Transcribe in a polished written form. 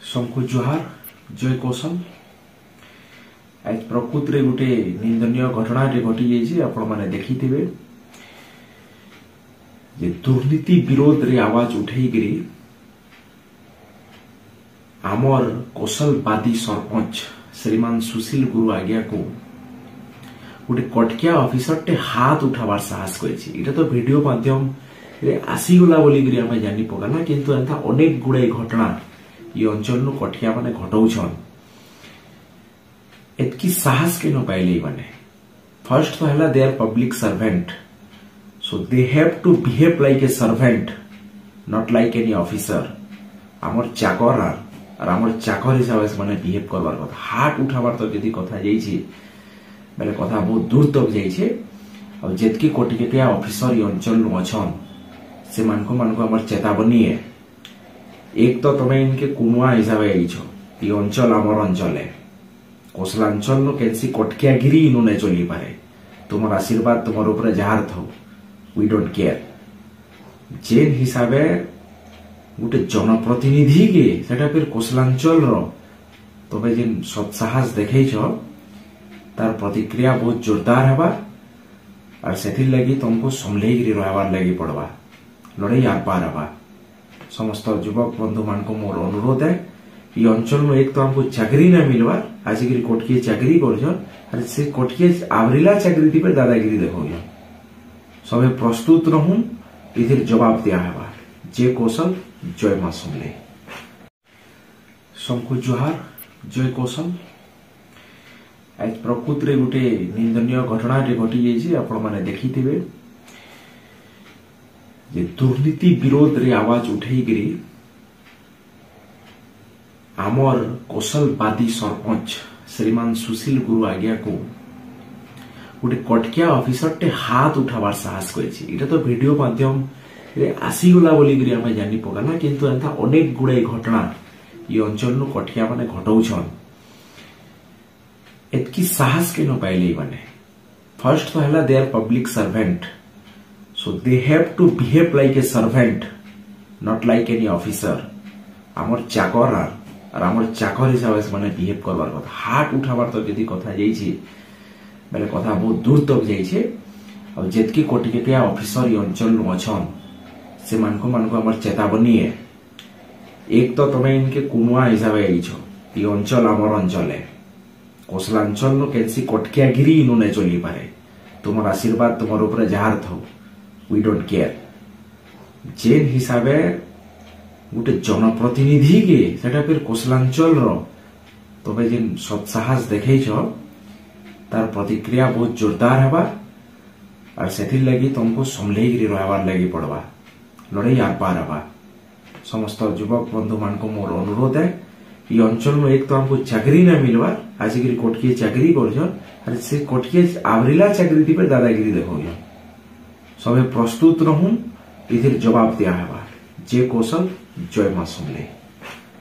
ସମକୁ ଜୁହାର, ଜୟ କୌଶଲ। ଆଜ ପ୍ରକୃତିରେ ଗୋଟେ ନିନ୍ଦନୀୟ ଘଟଣାଟେ ଘଟିଯାଇଛି। ଆପଣମାନେ ଦେଖିଥିବେ ଯେ ଦୁର୍ନୀତି ବିରୋଧରେ ଆୱାଜ ଉଠେଇକିରି ଆମର କୌଶଲବାଦୀ ସରପଞ୍ଚ ଶ୍ରୀମାନ ସୁଶୀଲ ଗୁରୁ ଆଜ୍ଞାକୁ ଗୋଟେ କଟକିଆ ଅଫିସରଟେ ହାତ ଉଠାବାର ସାହସ କରିଛି। ଏଇଟା ତ ଭିଡିଓ ମାଧ୍ୟମରେ ଆସିଗଲା ବୋଲିକିରି ଆମେ ଜାନି ପକାଲା, କିନ୍ତୁ ଏନ୍ତା ଅନେକ ଗୁଡ଼ାଏ ଘଟଣା ଇ ଅଞ୍ଚଳନୁ କଠିଆ ମାନେ ଘଟଉଛନ୍। ଏତ୍କି ସାହସ କେନ ପାଇଲେ ମାନେ? ଫାର୍ଷ୍ଟ ତ ହେଲା they are public servant, so they have to behave like a servant, not like any officer. ଆମର ଚାକର ଆର୍ ଆମର ଚାକର ହିସାବରେ ସେମାନେ ବିହେଭ୍ କରବାର କଥା। ହାତ ଉଠାବାର ତ ଯଦି କଥା ଯାଇଛି ବେଲେ କଥା ବହୁତ ଦୂର ତକ ଯାଇଛେ। ଆଉ ଯେତ୍କି କୋଟିକିଆ ଅଫିସର ଇ ଅଞ୍ଚଳନୁ ଅଛନ୍, ସେମାନଙ୍କୁ ମାନଙ୍କୁ ଆମର ଚେତାବନୀ ଏ। ଏକ ତ ତମେ ଇନକେ କୁନୁଆ ହିସାବେ ଆଇଛ। ଇ ଅଞ୍ଚଳ ଆମର ଅଞ୍ଚଳ ଏ। କୋଶଲାଞ୍ଚଳନୁ କେନ୍ସି କଟକିଆଗିରି ଇନୁ ନାଇଁ ଚଲିପାରେ। ତୁମର ଆଶୀର୍ବାଦ ତୁମର ଉପରେ ଯାହାର ଥାଉ, we don't care. ଯେନ୍ ହିସାବେ ଗୋଟେ ଜନପ୍ରତିନିଧି କେ, ସେଟା ଫିର କୋଶଲାଞ୍ଚଳର, ତମେ ଯେନ୍ ସତ୍ସାହସ ଦେଖେଇଛ, ତାର ପ୍ରତିକ୍ରିୟା ବହୁତ ଜୋରଦାର ହେବା। ଆର୍ ସେଥିର୍ ଲାଗି ତମକୁ ସମ୍ଭଲେଇକିରି ରହିବାର ଲାଗି ପଡବା। ଲଢେଇ ଆର୍ ପାର ହେବା। ସମସ୍ତ ଯୁବକ ବନ୍ଧୁ ମାନଙ୍କୁ ମୋର ଅନୁରୋଧ है, ଇ ଅଞ୍ଚଳନୁ ଏକ ତ ଆମକୁ ଚାକିରି ନାଇଁ ମିଲବାର, ଆସିକିରି କଟକିଏ ଚାକିରି କରୁଛନ୍, ଆରେ ସେ କଟକିଏ ଆବରିଲା ଚାକିରି ଥିବେ ଦାଦାଗିରି ଦେଖଉଛନ୍। ସବେ ପ୍ରସ୍ତୁତ ରହୁନ୍, ଏଥିର ଜବାବ ଦିଆ ହେବା। ଜୟ କୌଶଲ, ଜୟ ମା ସମଲେଇ। ସମକୁ ଜୁହାର, ଜୟ କୌଶଲ। ଆଜ ପ୍ରକୃତିରେ ଗୋଟେ ନିନ୍ଦନୀୟ ଘଟଣାଟେ ଘଟିଯାଇଛି। ଆପଣମାନେ ଦେଖିଥିବେ ଯେ ଦୁର୍ନୀତି ବିରୋଧରେ ଆୱାଜ ଉଠେଇକିରି ଆମର କୌଶଲବାଦୀ ସରପଞ୍ଚ ଶ୍ରୀମାନ ସୁଶୀଲ ଗୁରୁ ଆଜ୍ଞାକୁ ଗୋଟେ କଟକିଆ ଅଫିସରଟେ ହାତ ଉଠାବାର ସାହସ କରିଛି। ଏଇଟା ତ ଭିଡିଓ ମାଧ୍ୟମରେ ଆସିଗଲା ବୋଲିକିରି ଆମେ ଜାନି ପକାଲା, କିନ୍ତୁ ଏନ୍ତା ଅନେକ ଗୁଡ଼ାଏ ଘଟଣା ଇ ଅଞ୍ଚଳନୁ କଠିଆ ମାନେ ଘଟଉଛନ୍। ଏତ୍କି ସାହସ କେନ ପାଇଲେ ମାନେ? ଫାର୍ଷ୍ଟ ତ ହେଲା they are public servant, so they have to behave like a servant, not like any officer. ଆମର ଚାକର ଆର୍ ଆମର ଚାକର ହିସାବରେ ସେମାନେ ବିହେଭ୍ କରବାର କଥା। ହାତ ଉଠାବାର ତ ଯଦି କଥା ଯାଇଛି ବେଲେ କଥା ବହୁତ ଦୂର ତକ ଯାଇଛେ। ଆଉ ଯେତ୍କି କୋଟିକିଆ ଅଫିସର ଇ ଅଞ୍ଚଳନୁ ଅଛନ୍, ସେମାନଙ୍କୁ ମାନଙ୍କୁ ଆମର ଚେତାବନୀ ଏ। ଏକ ତ ତମେ ଇନକେ କୁନୁଆ ହିସାବେ ଆଇଛ। ଇ ଅଞ୍ଚଳ ଆମର ଅଞ୍ଚଳ ଏ। କୋଶଲାଞ୍ଚଳନୁ କେନ୍ସି କଟକିଆଗିରି ଇନୁ ନାଇଁ ଚଲିପାରେ। ତୁମର ଆଶୀର୍ବାଦ ତୁମର ଉପରେ ଯାହାର ଥାଉ, we don't care. ଯେନ୍ ହିସାବେ ଗୋଟେ ଜନପ୍ରତିନିଧି କେ, ସେଟା ଫିର କୋଶଲାଞ୍ଚଳର, ତମେ ଯେନ୍ ସତ୍ସାହସ ଦେଖେଇଛ, ତାର ପ୍ରତିକ୍ରିୟା ବହୁତ ଜୋରଦାର ହେବା। ଆର୍ ସେଥିର୍ ଲାଗି ତମକୁ ସମ୍ଭଲେଇକିରି ରହିବାର ଲାଗି ପଡବା। ଲଢେଇ ଆର୍ ପାର ହେବା। ସମସ୍ତ ଯୁବକ ବନ୍ଧୁ ମାନଙ୍କୁ ମୋର ଅନୁରୋଧ है, ଇ ଅଞ୍ଚଳନୁ ଏକ ତ ଆମକୁ ଚାକିରି ନାଇଁ ମିଲବାର, ଆସିକିରି କଟକିଏ ଚାକିରି କରୁଛନ୍, ଆରେ ସେ କଟକିଏ ଆବରିଲା ଚାକିରି ଥିବେ ଦାଦାଗିରି ଦେଖଉଛନ୍। ସବେ ପ୍ରସ୍ତୁତ ରହୁନ୍, ଏଥିର ଜବାବ ଦିଆ ହେବା। ଜୟ କୌଶଲ, ଜୟ ମା ସମଲେଇ।